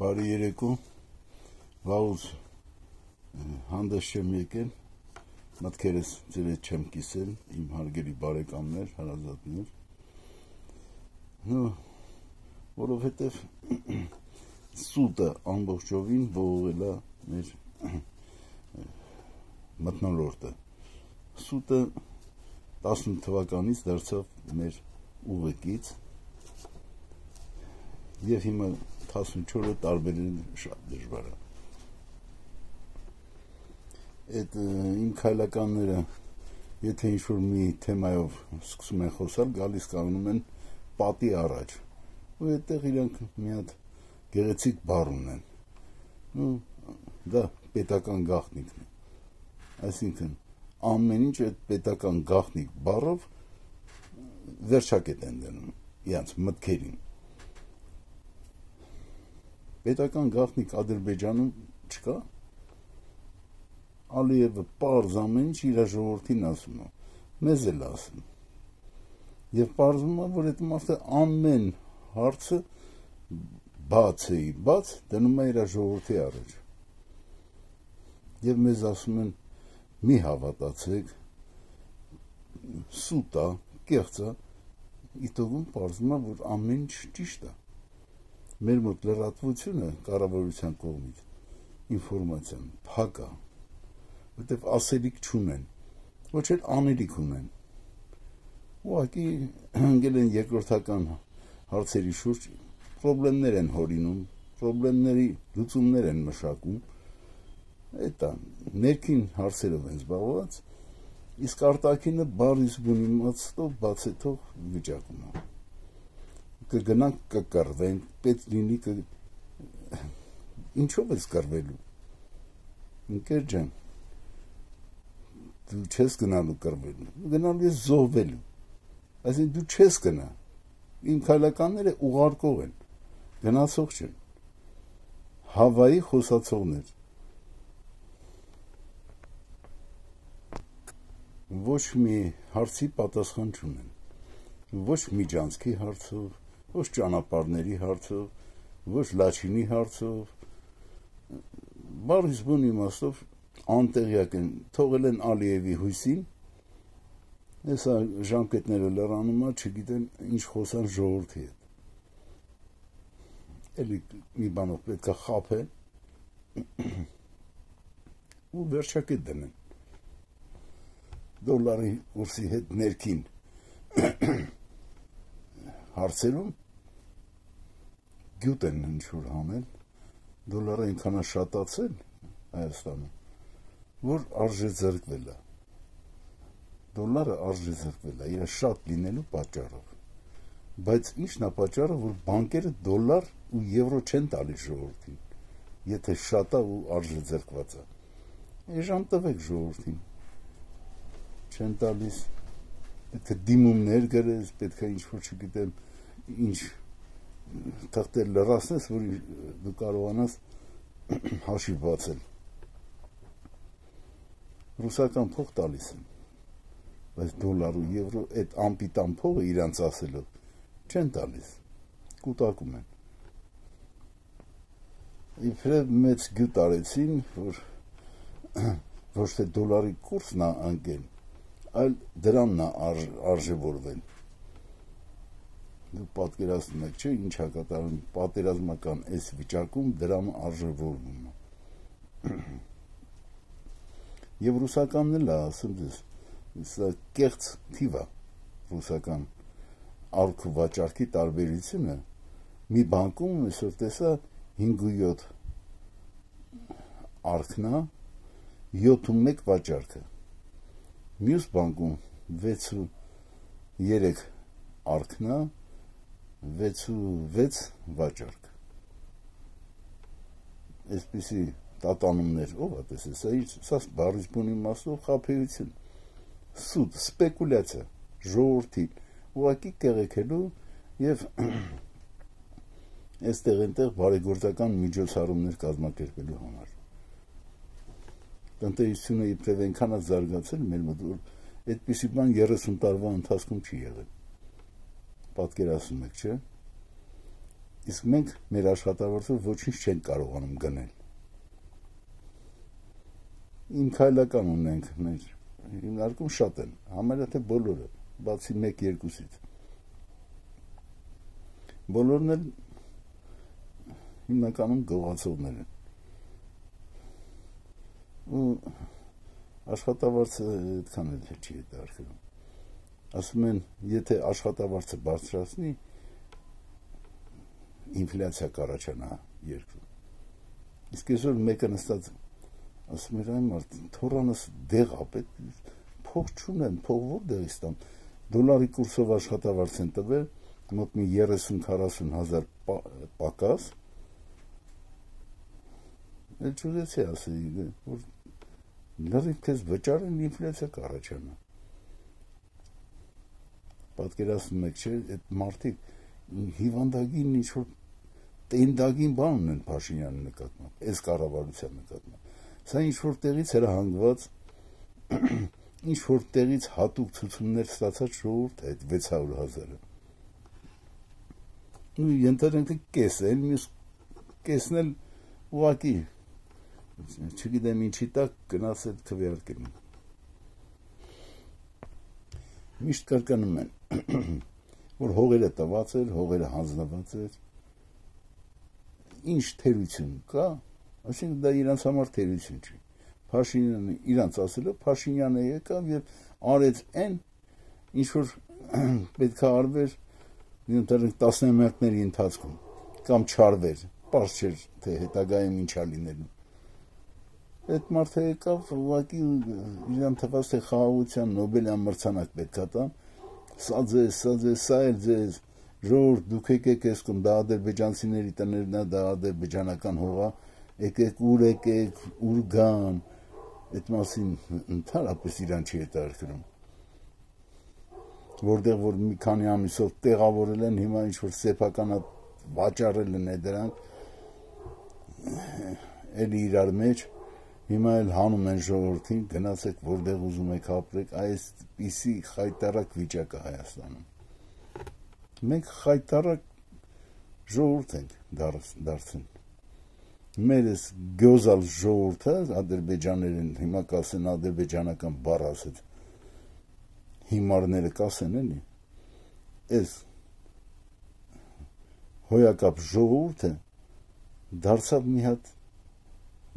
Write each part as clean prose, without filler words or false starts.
Բարի երեկո, վաղուց հանդես չեմ եկել, մտքերս ձեր հետ չեմ կիսել, իմ հարգելի բարեկամներ, հարազատներ, որովհետև սուտը ամբողջովին ողողել է մեր մթնոլորտը, սուտը 18 թվականից դարձավ մեր ուղեկից և հիմա 14-ը տարբերել շատ դժվար է։ Այդ իմ քայլականները, եթե ինչ-որ մի թեմայով սկսում են խոսալ, գալիս կանգնում են պատի առաջ, ու այդտեղ իրանք մի հատ գեղեցիկ բառ ունեն, դա պետական գաղտնիքն է, այսինքն ամեն ինչ այդ պետական գաղտնիք բառով վերջակետ են դնում իրանց մտքերին։ Պետական գաղտնիք Ադրբեջանում չկա, Ալիևը պարզ ամեն ինչ իր ժողովրդին ասում է, մեզ էլ ասում, և պարզվում է, որ այդ մարդը ամեն հարցը բաց դնում է իր ժողովրդի առաջ, և մեզ ասում են, մի հավատացեք, սուտ է, կեղծ է, իտոգում պարզվում է, որ ամեն ինչ ճիշտ է։ Մեր մոտ լրատվությունը կառավարության կողմից ինֆորմացիան փակ է, որտեվ ասելիք չունեն, ոչ էլ անելիք ունեն։ Ուղղակի հանգել են երկրորդական հարցերի շուրջ, պրոբլեմներ են հորինում, պրոբլեմների լուծումներ են մշակում, այդ է, ներքին հարցերով են զբաղված, իսկ արտաքինը բառից բուն իմաստով բացեթող վիճակում է։ Կգնանք կկռվենք, պետք լինի ինչով ես կռվելու, ընկեր ջան, դու չես գնալու կռվելու, գնալու ես զոհվելու, այսինքն դու չես գնա, իմ քայլականները ուղարկող են, գնացող չեն, հավայի խոսացողներ, ոչ մի հարցի պատասխան չունեն, ոչ միջանցքի հարցով, ոչ ճանապարհների հարցով, ոչ լաչինի հարցով, բառից բուն իմաստով անտեղյակ են, թողել են Ալիևի հույսին, հեսա ժամկետները լրանում է, չգիտեն ինչ խոսան ժողովրդի հետ։ Էլի մի բանով պետք է խաբեն ու վերջակետ դնեն։ Դոլարի կուրսի հետ ներքին հարցերում գյուտ են ինչ-որ հանել, դոլարը այնքան է շատացել Հայաստանում, որ արժե ձեռքվել է, դոլարը արժե ձեռքվել է, իր շատ լինելու պատճառով, բայց ինչն է պատճառը, որ բանկերը դոլար ու եվրո չեն տալիս ժողովրդին, եթե շատ է ու արժե ձեռքված է, էժան տվեք ժողովրդին, չեն տալիս, պետք է դիմումներ գրես, պետք է ինչ-որ չգիտեմ, ինչ թղթեր լրացնես, որ դու կարողանաս հաշիվ բացել։ Ռուսական փող տալիս են, բայց դոլար ու եվրո այդ անպիտան փողը իրանց ասելով չեն տալիս, կուտակում են։ Իբրև մեծ գյուտ արեցին, որ ոչ թե դոլարի կուրսն է անկել, այլ դրանն է արժևորվել։ Դու պատկերացնում եք, չէ, ինչ է կատարում պատերազմական այս վիճակում դրամը արժևորվում է։ Եվ ռուսականն էլ է ասում ձեզ, սա կեղծ թիվ է ռուսական արք ու վաճառքի տարբերությունը, մի բանկում այսօր տեսա 5.7 արքն է, 7.1 վաճառքը, մյուս բանկում 6.3 արքն է, 6.6 վաճառք, այսպիսի տատանումներ, ով է տեսել, սա բառից բուն իմաստով խաբեություն, սուտ, սպեկուլյացիա, ժողովրդի, ուղղակի կեղեքելու և այստեղ այնտեղ բարեգործական միջոցառումներ կազմակերպելու համար։ Տնտեսությունը իբրև այնքան է զարգացել մեր մոտ, որ այդպիսի բան 30 տարվա ընթացքում չի եղել։ Պատկերացնում եք, չէ՞։ Իսկ մենք մեր աշխատավարձով ոչինչ չենք կարողանում գնել։ Իմ քայլական ունենք մեր հիմնարկում շատ են, համարյա թե բոլորը, բացի 1-2-ից։ Բոլորն էլ հիմնականում գողացողներ են։ Ու աշխատավարձը այդքան էլ չի հետաքրքրում։ Ասում են, եթե աշխատավարձը բարձրացնի, ինֆլյացիա կառաջանա երկրում։ Իսկ այսօր մեկը նստած ասում էր այն մարդ, թորանս դեղ ապետ, փող չունեմ, փող որտեղից տամ։ Դոլարի կուրսով աշխատավարձ են տվել, մոտ մի 30-40 հազար պակաս։ Էլ չուզեցի ասեի, որ լրիվ քեզ վճարեն ինֆլյացիա կառաջանա։ Պատկերացնում եք, չէ, այդ մարդիկ հիվանդագին ինչ-որ տենդագին բան ունեն Փաշինյանի նկատմամբ, այս կառավարության նկատմամբ։ Սա ինչ-որ տեղից հրահանգված, ինչ-որ տեղից հատուկ ցուցումներ ստացած ժողովուրդ է այդ 600,000-ը։ Ու ենթադրենք կեսը, մյուս կեսն էլ ուղղակի, չգիտեմ ինչի տակ գնաց այդ քվեարկին։ Միշտ կրկնում են, որ հողերը տված էր, հողերը հանձնված էր, ինչ թերություն կա, այսինքն դա իրանց համար թերություն չի։ Փաշինյանը իրանց ասելով Փաշինյանը եկավ եւ արեց այն, ինչ որ պետք է արվեր տասնամյակների ընթացքում, կամ չարվեր, պարզ չէր, թե հետագայում ինչա լինելու։ Այդ մարդը եկավ, ուղղակի իրան թվաց, թե խաղաղության Նոբելյան մրցանակ պետք է տան, սա էլ ձեզ, ժողովուրդ, դուք եկեք այս կողմ, դա ադրբեջանցիների տներն է, դա ադրբեջանական հող է, եկեք, ուր գան, այդ մասին ընդհանրապես իրան չի հետաքրքրում։ Որտեղ որ մի քանի ամիսով տեղավորել են, հիմա ինչ-որ սեփական վաճառել են դրանք, էլի իրար մեջ, հիմա էլ հանում են ժողովրդին, գնացեք որտեղ ուզում եք ապրեք, այսպիսի խայտառակ վիճակ է Հայաստանում։ Մենք խայտառակ ժողովուրդ ենք դարձել։ Մեր այս գյոզալ ժողովուրդը, ադրբեջաներեն, հիմա կասեն ադրբեջանական բառ ասեց, հիմարները կասեն էլի, այս հոյակապ ժողովուրդը դարձավ մի հատ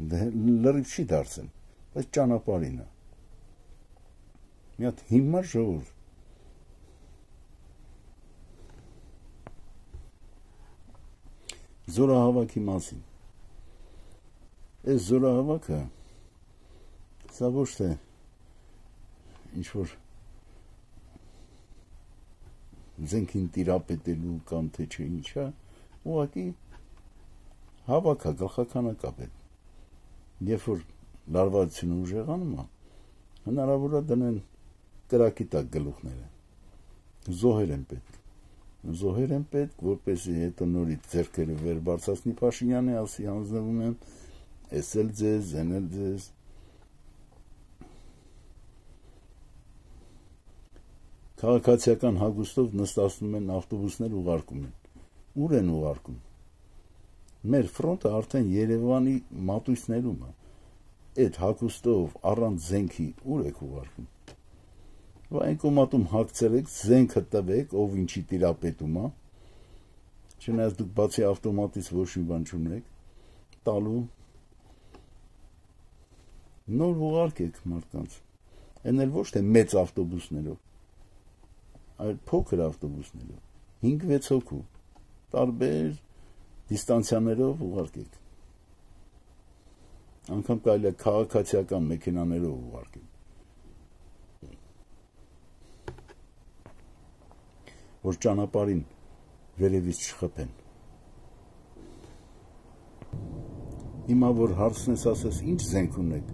լրիվ չի դարձել, բայց ճանապարհին է։ Մի հատ հիմար ժողովուրդ։ Զորահավաքի մասին։ Այս զորահավաքը սա ոչ թե ինչ-որ զենքին տիրապետելու կամ թե չէ ինչա, ուղղակի հավաք է, գլխականակապ է։ Երբ որ լարվածությունը ուժեղանում է, հնարավոր է դնեն կրակի տակ գլուխները։ Զոհեր են պետք, որպեսզի հետո նորից ձեռքերը վեր բարձրացնի Փաշինյանը, ասի հանձնվում եմ, էս էլ ձեզ, այն էլ ձեզ։ Քաղաքացիական հագուստով նստացնում են, ավտոբուսներ ուղարկում են։ Ուր են ուղարկում։ Մեր ֆրոնտը արդեն Երևանի մատույցներում է։ Այդ հագուստով առանց զենքի ուր եք ուղարկում։ Այն կոմատում հագցրեք, զենքը տվեք, ով ինչի տիրապետում է, չնայած դուք բացի ավտոմատից ոչ մի բան չունեք, տալու, նոր ուղարկեք մարդկանց, այն էլ ոչ թե մեծ ավտոբուսներով, այլ փոքր ավտոբուսներով, 5-6 հոգու, տարբեր դիստանցիաներով ուղարկեք, անգամ կարելի է քաղաքացիական մեքենաներով ուղարկեք, որ ճանապարհին վերևից չխփեն։ Հիմա որ հարցն ես ասես, ինչ զենք ունեք,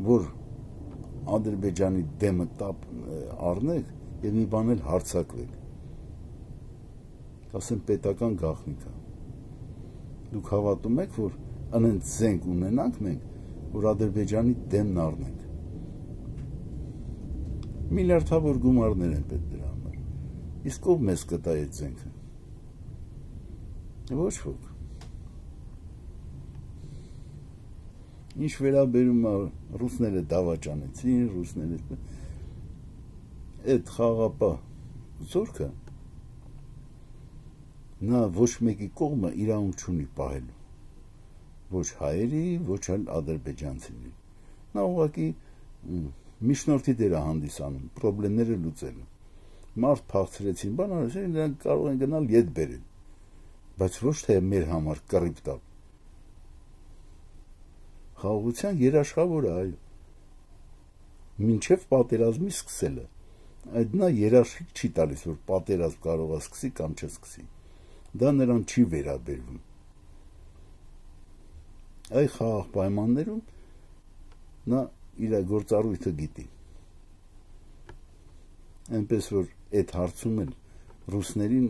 որ Ադրբեջանի դեմը առնեք եւ մի բան էլ հարձակվեք։ Կասեն պետական գաղտնիք է։ Դուք հավատում եք, որ անենց զենք ունենանք մենք, որ Ադրբեջանի դեմն առնենք։ Միլիարդավոր գումարներ են պետք դրա համար։ Իսկ ով մեզ կտա այդ զենքը։ Ոչ ոք։ Ինչ վերաբերում է ռուսները դավաճանեցին, ռուսները այդ խաղապահ զորքը նա ոչ մեկի կողմը իրավունք չունի պահելու, ոչ հայերի, ոչ էլ ադրբեջանցիների։ Նա ուղղակի միջնորդի դեր է հանդիսանում, պրոբլեմները լուծելու։ Մարդ փախցրեցին, բան արեցին, նրանք կարող են գնալ ետ բերել, բայց ոչ թե մեր համար կռիվ տալ։ Խաղաղության երաշխավորը, այո, մինչև պատերազմի սկսելը, այդ նա երաշխիք չի տալիս, որ պատերազմ կարող է սկսի կամ չսկսի, դա նրան չի վերաբերվում։ Այ խաղաղ պայմաններում նա իր գործառույթը գիտի, այնպես որ այդ հարցում էլ ռուսներին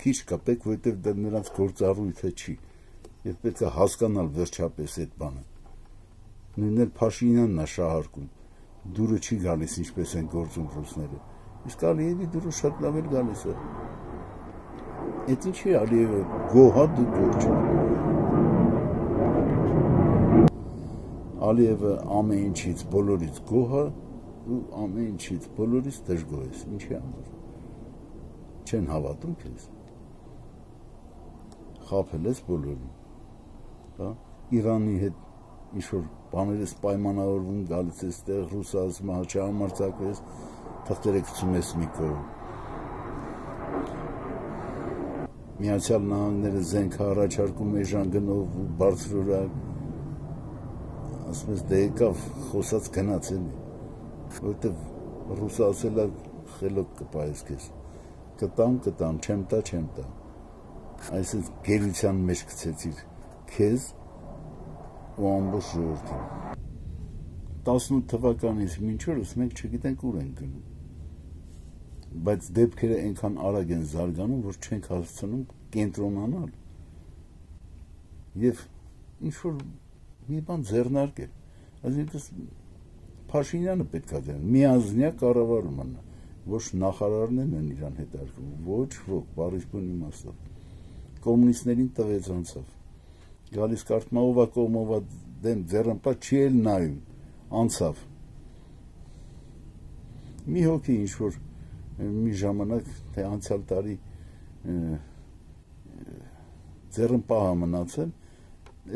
քիչ կապեք, որովհետև դա նրանց գործառույթը չի, եւ պետք է հասկանալ վերջապես այդ բանը։ Նույնն էլ Փաշինյանն է շահարկում, դուրը չի գալիս, ինչպես են գործում ռուսները, իսկ Ալիևի դուրը շատ լավ էլ գալիս է։ Այդ ինչի Ալիևը գոհա դու գործ։ Ալիևը ամեն ինչից բոլորից գոհ է ու ամեն ինչից բոլորից դժգոհ է, ինչի համար։ Չեն հավատում քեզ։ Խաբել ես բոլորին։ Հա, Իրանի հետ ինչ-որ բաներ ես պայմանավորվում, գալիս ես տեղ, ռուսացում, չհամարձակվես, թղթերը գցում ես մի կողմ։ Միացյալ Նահանգները զենք առաջարկում է ժանգնով ու բարձրորակ, ասում ես դե եկավ, խոսած գնաց էլի, որովհետև ռուսը ասել է խելոք կպայես քեզ, կտամ, չեմ տա, այսինքն գերության մեջ գցեցիր քեզ ու ամբողջ ժողովրդին։ 18 թվականից մինչ օրս մենք չգիտենք ուր ենք գնում, բայց դեպքերը այնքան արագ են զարգանում, որ չենք հասցնում կենտրոնանալ եւ ինչ-որ մի բան ձեռնարկել։ Այսինքն Փաշինյանը պետք է դեր միազնյա կառավարումը, ոչ նախարարներն են իրան հետարկում, ոչ ոք, բառից բուն իմաստով։ Կոմունիստներին տվեց անցավ։ Գալիս կարծում ով դեմ ձեռնպա չի էլ նայում, անցավ։ Մի հոգի ինչ-որ մի ժամանակ, թե անցյալ տարի ձեռնպահը մնացել,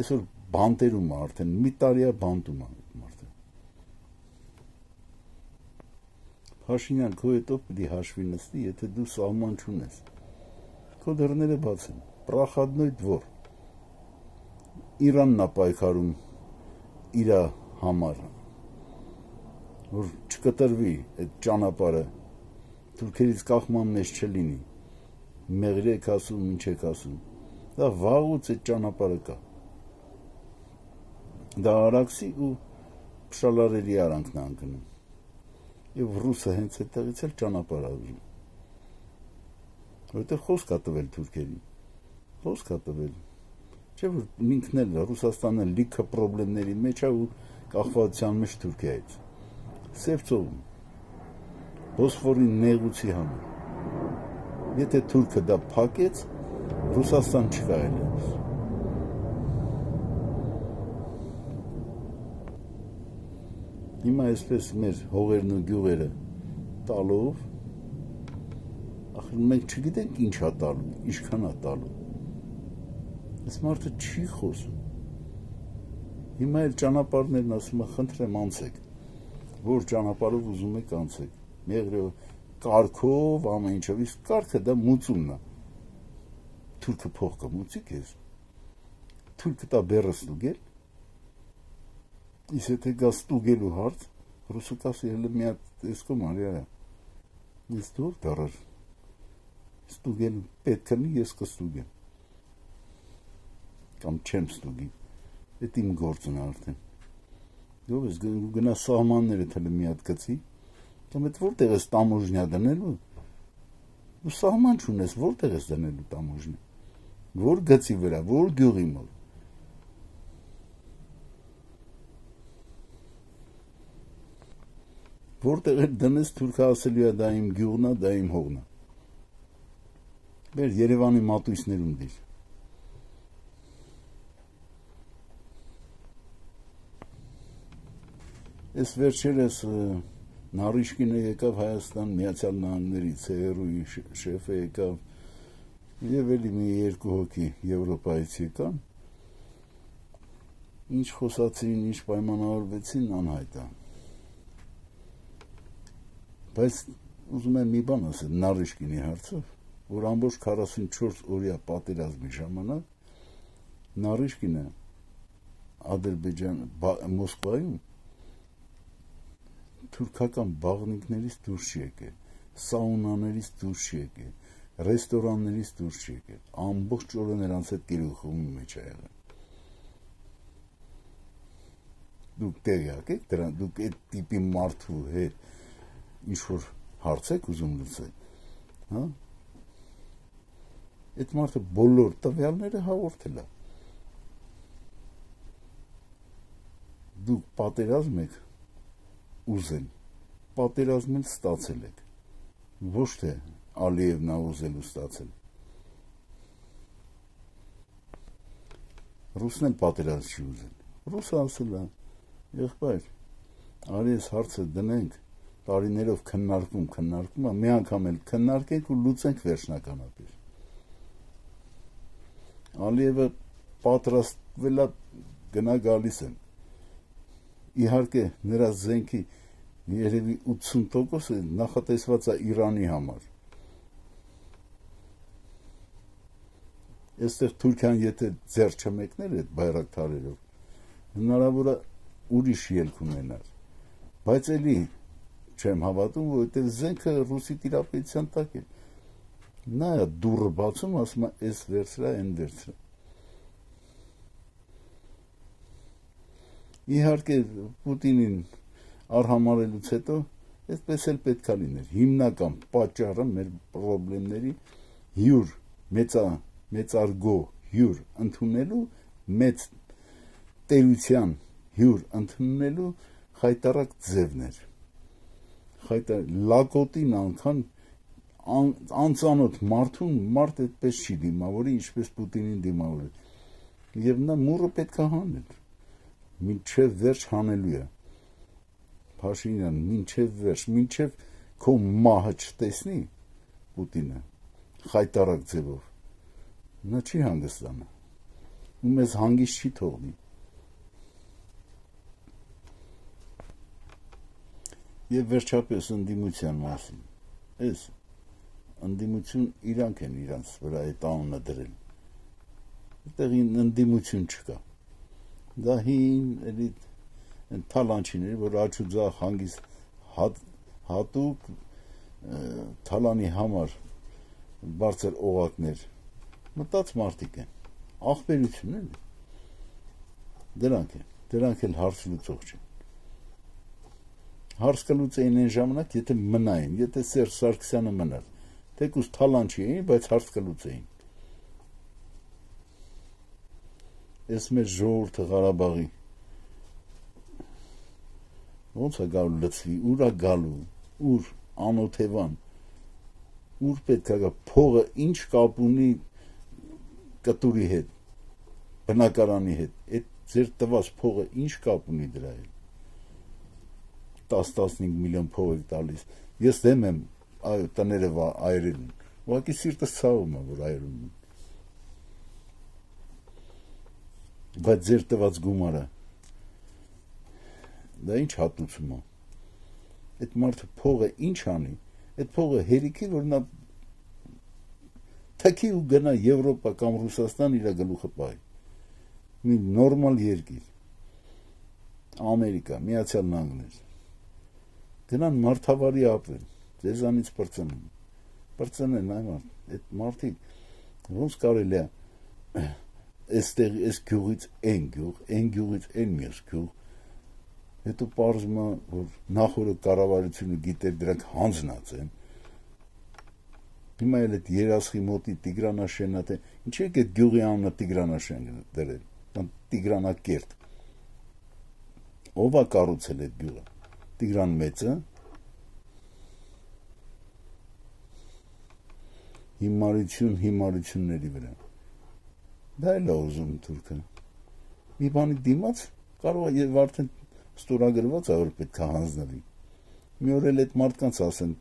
այսօր բանտերում է արդեն, մի տարիա բանտում է մարդը։ Փաշինյան, քո հետով պիտի հաշվի նստի, եթե դու սահման չունես։ Քո դռները բաց են, պրախադնոյ դվոր։ Իրանն է պայքարում իր համար, որ չկտրվի այդ ճանապարհը, թուրքերից կախման մեջ չլինի, մեղր եք ասում, ինչ եք ասում, դա վաղուց այդ ճանապարհը կա։ Դա Արաքսի ու Փշալարերի արանքն է անկնում, եւ ռուսը հենց այդտեղից էլ ճանապարհ է ուզում, որովհետեւ խոսք է տվել թուրքերին, խոսք է տվել, չէ՞ որ ինքն էլ Ռուսաստանը լիքը պրոբլեմների մեջ է ու կախվածության մեջ Թուրքիայից։ Սև ծովում, Բոսֆորի նեղուցի համար։ Եթե թուրքը դա փակեց, Ռուսաստան չկա էլ։ Հիմա այսպես մեր հողերն ու գյուղերը տալով, ախր մենք չգիտենք ինչ է տալու, ինչքան է տալու։ Այս մարդը չի խոսում։ Հիմա էլ ճանապարհներն ասում է, խնդրեմ անցեք, որ ճանապարհով ուզում եք անցեք, մեղրով, կարգով, ամեն ինչով, իսկ կարգը դա մուծումն է։ Թուրքը փող կմուծի քեզ, թուրքը տա բեռը ստուգել, իսկ եթե գա ստուգելու հարց, ռուսը կասի հələ մի հատ էսկոմ արյա, ես դուր դարար, ստուգել պետք է ես կստուգեմ, կամ չեմ ստուգի, այդ իմ գործն է արդեն։ Դու ես գնա սահմանները թելը մի հատ գցի, կամ այդ որտեղ ես տամոժնյա դնելու, դու սահման չունես, որտեղ ես դնելու տամոժնյա, որ գծի վրա, որ գյուղի մոտ։ Որտեղ էլ դնես թուրքը ասելու է դա իմ գյուղն է, դա իմ հողն է։ Մեր Երևանի մատույցներում դիր։ Այս վերջերս Նարիշկինը եկավ Հայաստան, Միացյալ Նահանգների ՑՌՈ-ի շեֆը եկավ, եւ էլի մի երկու հոգի Եվրոպայից եկան, ինչ խոսացին, ինչ պայմանավորվեցին, անհայտ է։ Բայց ուզում եմ մի բան ասել Նարիշկինի հարցով, որ ամբողջ 44 օրյա պատերազմի ժամանակ Նարիշկինը Ադրբեջան Մոսկվայում թուրքական բաղնիքներից դուրս չի եկել, սաունաներից դուրս չի եկել, ռեստորաններից դուրս չի եկել, ամբողջ օրը նրանց հետ գերուխումի մեջ է եղել։ Դուք տեղյակ եք դրան, դուք այդ տիպի մարդու հետ ինչ-որ հարց եք ուզում լուծել, հա? Այդ մարդը բոլոր տվյալները հաղորդել է։ Դուք պատերազմ եք ուզել, պատերազմել ստացել եք, ոչ թե Ալիևն է ուզել ու ստացել։ Ռուսն էլ պատերազմ չի ուզել։ Ռուսը ասել է, եղբայր, արի այս հարցը դնենք, տարիներով քննարկում, մի անգամ էլ քննարկենք ու լուծենք վերջնականապես։ Ալիևը պատրաստվել է գնա գալիս են։ Իհարկե նրա զենքի երևի 80%-ը նախատեսված է Իրանի համար։ Այստեղ Թուրքիան եթե ձեռ չմեկներ այդ բայրակթարերով, հնարավոր է ուրիշ ելք ունենար։ Բայց էլի չեմ հավատում, որովհետև զենքը ռուսի տիրապետության տակ է։ Նա է դուռը բացում, ասում է, այս վերցրա, այն վերցրա։ Իհարկե Պուտինին արհամարելուց հետո այդպես էլ պետք է լիներ։ Հիմնական պատճառը մեր խնդիրների հյուր մեծարգո հյուր ընդունելու մեծ տերության հյուր ընդունելու խայտարակ ձևն էր։ Լակոտին անգամ անծանոթ մարդուն մարդ այդպես չի դիմավորի, ինչպես Պուտինին դիմավորել։ Եվ նա մուրը պետք է հանել։ Մինչև վերջ հանելու է։ Փաշինյան, մինչև վերջ, մինչև քո մահը չտեսնի Պուտինը խայտարակ ձևով, նա չի հանգստանա, ու մեզ հանգիստ չի թողնի։ Եվ վերջապես ընդդիմության մասին, այս ընդդիմություն իրանք են իրանց վրա այդ անունը դրել, այդտեղ ընդդիմություն չկա։ Դա հին էլի թալանչիներ, որ աչուձախ հանգիստ հատուկ թալանի համար բարձր օղակներ մտած մարդիկ են, ախպերություն էլի, դրանք էլ հարց լուծող չեն։ Հարց կլուծեին այն ժամանակ, եթե մնային, եթե Սերժ Սարգսյանը մնար, թեկուզ թալանչի էին, բայց հարց կլուծեին։ Այս մեր ժողովուրդը Ղարաբաղի ոնց է գալու լծվի, ուր է գալու, ուր անօթևան, ուր պետք է գա, փողը ինչ կապ ունի կտուրի հետ, բնակարանի հետ, այդ ձեր տված փողը ինչ կապ ունի դրա հետ, 10-15 միլիոն փող եք տալիս, ես դեմ եմ տները այրելուն, ուղղակի սիրտս ցավում է, որ այրում են, բայց ձեր տված գումարը, դա ինչ հատուցում է, այդ մարդը փողը ինչ անի, այդ փողը հերիքի, որ նա թքի ու գնա Եվրոպա կամ Ռուսաստան իր գլուխը պահի, մի նորմալ երկիր, Ամերիկա, Միացյալ Նահանգներ, գնան մարդավարի ապրեն, ձեզանից պրծնեն այդ մարդիկ, ոնց կարելի է այս գյուղից այն գյուղ, այն գյուղից այն մյուս գյուղ, հետո պարզվում է, որ նախորդ կառավարությունը գիտեր դրանք հանձնած են, հիմա էլ այդ Երասխի մոտի Տիգրանաշենը, ինչի՞ եք այդ գյուղի անունը Տիգրանաշեն դրել, կամ Տիգրանակերտ, ով է կառուցել այդ գյուղը, Տիգրան Մեծը, հիմարությունների վրա, դա էլ է ուզում թուրքը, մի բանի դիմաց կարող է եւ արդեն ստորագրված է, որ պետք է հանձնվի։ Մի օր էլ այդ մարդկանց ասեն,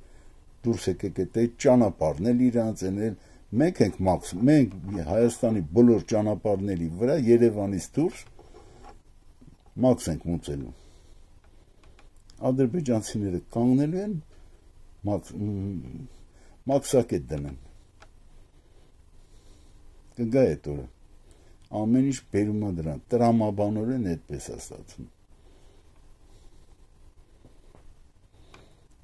դուրս եկեք այդ ճանապարհն էլ իրանց են էլ, մենք ենք մենք Հայաստանի բոլոր ճանապարհների վրա Երևանից դուրս մաքս ենք մուծելու։ Ադրբեջանցիները կանգնելու են մաքսակետ դնեն։ Կգա այդ օրը։ Ամեն ինչ բերում է դրան, տրամաբանորեն այդպես է ստացվում։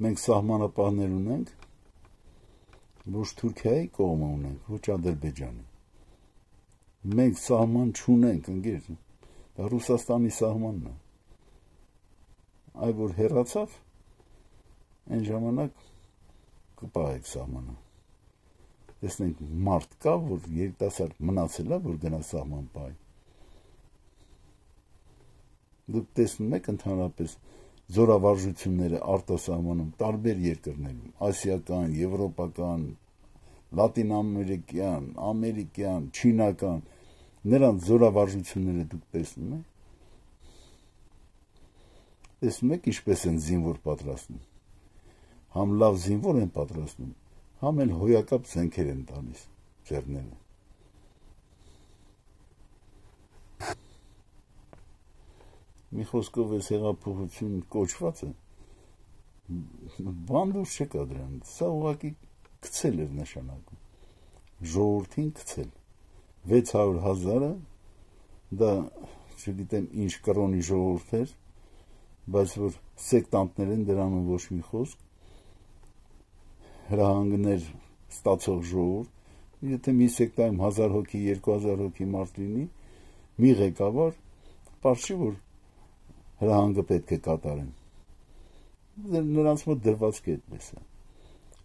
Մենք սահմանապահներ ունենք, ոչ Թուրքիայի կողմը ունենք, ոչ Ադրբեջանի։ Մենք սահման չունենք, ընկեր, դա Ռուսաստանի սահմանն է։ Այ որ հեռացավ, այն ժամանակ կպահեք սահմանը։ Տեսնենք մարդ կա, որ երիտասարդ մնացել է, որ գնա սահման պահի։ Դուք տեսնում եք ընդհանրապես զորավարժությունները արտասահմանում տարբեր երկրներում, ասիական, եվրոպական, լատինամերիկյան, ամերիկյան, չինական, նրանց զորավարժությունները դուք տեսնում եք։ Տեսնում եք ինչպես են զինվոր պատրաստում։ Համ լավ զինվոր են պատրաստում, համ էլ հոյակապ զենքեր են տալիս ձեռները։ Մի խոսքով էս հեղափոխություն կոչվածը բան դուրս չկա դրանից, սա ուղղակի գցել էր նշանակում, ժողովրդին գցել, 600,000-ը, դա չգիտեմ ինչ կրոնի ժողովուրդ էր, բայց որ սեկտանտներ են դրանում ոչ մի խոսք, հրահանգներ ստացող ժողովուրդ, եթե մի սեկտայում 1000 հոգի, 2000 հոգի մարդ լինի, մի ղեկավար, պարզ չի, որ հրահանգը պետք է կատարեն։ Նրանց մոտ դրված այդպես է։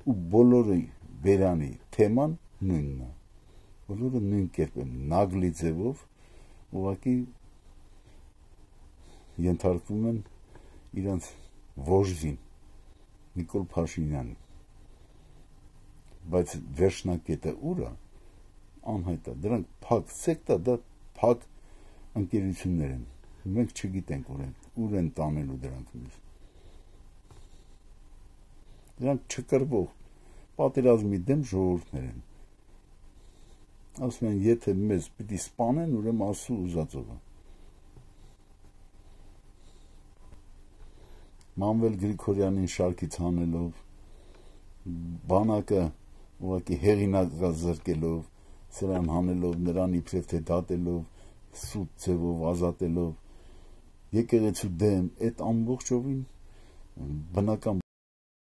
Ու բոլորի բերանի թեման նույնն է։ Բոլորը նույն կերպ են, նագլի ձևով, ուղղակի ենթարկվում են իրանց վոժդին, Նիկոլ Փաշինյանին։ Բայց վերջնակետը ուր է, անհայտ է, դրանք փակ սեկտա, դա փակ ընկերություններ են։ Մենք չգիտենք ուր են տանելու դրանք մեզ։ Դրանք չկրվող, պատերազմի դեմ ժողովուրդներ են։ Ասում են, եթե մեզ պիտի սպանեն, ուրեմն Աստծո ուզածով է։ Մանվել Գրիգորյանին շարքից հանելով, բանակը ուղղակի հեղինակազրկելով, սրան հանելով, նրան իբրև թե դատելով, սուտ ձևով ազատելով, եկեղեցու դեմ, այդ ամբողջովին բնական